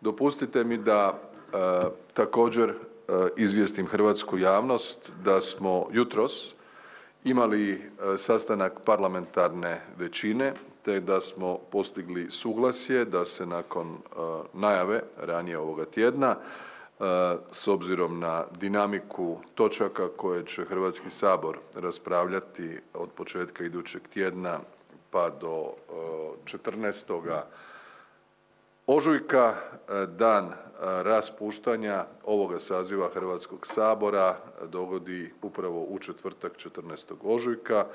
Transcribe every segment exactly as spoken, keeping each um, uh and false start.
Dopustite mi da e, također e, izvijestim hrvatsku javnost da smo jutros imali e, sastanak parlamentarne većine te da smo postigli suglasje da se nakon e, najave ranije ovoga tjedna e, s obzirom na dinamiku točaka koje će Hrvatski sabor raspravljati od početka idućeg tjedna pa do četrnaestog ožujka, dan raspuštanja ovoga saziva Hrvatskog sabora dogodi upravo u četvrtak četrnaestog ožujka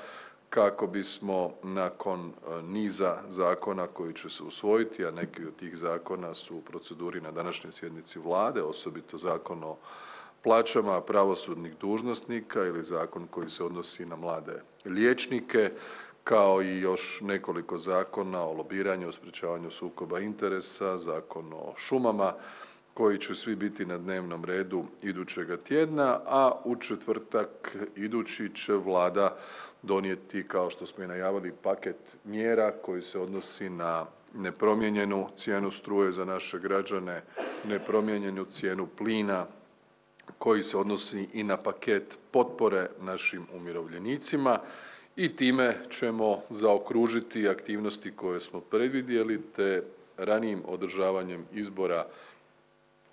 kako bismo nakon niza zakona koji će se usvojiti, a neki od tih zakona su u proceduri na današnjoj sjednici Vlade, osobito Zakon o plaćama pravosudnih dužnosnika ili zakon koji se odnosi na mlade liječnike, kao i još nekoliko zakona o lobiranju, o sprječavanju sukoba interesa, Zakon o šumama koji će svi biti na dnevnom redu idućega tjedna, a u četvrtak idući će Vlada donijeti, kao što smo i najavili, paket mjera koji se odnosi na nepromijenjenu cijenu struje za naše građane, nepromijenjenu cijenu plina, koji se odnosi i na paket potpore našim umirovljenicima i time ćemo zaokružiti aktivnosti koje smo predvidjeli te ranijim održavanjem izbora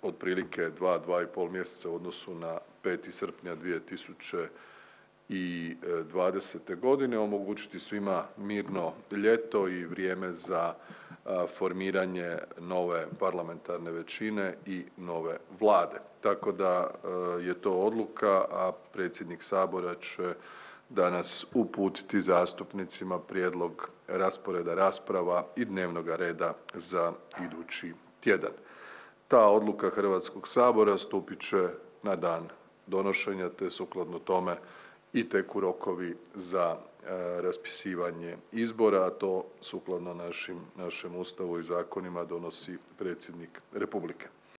otprilike dva, dva i pol mjeseca u odnosu na peti srpnja dvije tisuće dvadesete godine omogućiti svima mirno ljeto i vrijeme za formiranje nove parlamentarne većine i nove Vlade. Tako da je to odluka, a predsjednik Sabora će danas uputiti zastupnicima prijedlog rasporeda rasprava i dnevnoga reda za idući tjedan. Ta odluka Hrvatskog sabora stupit će na dan donošenja te sukladno tome i teku rokovi za raspisivanje izbora, a to sukladno našim, našem Ustavu i zakonima donosi predsjednik Republike.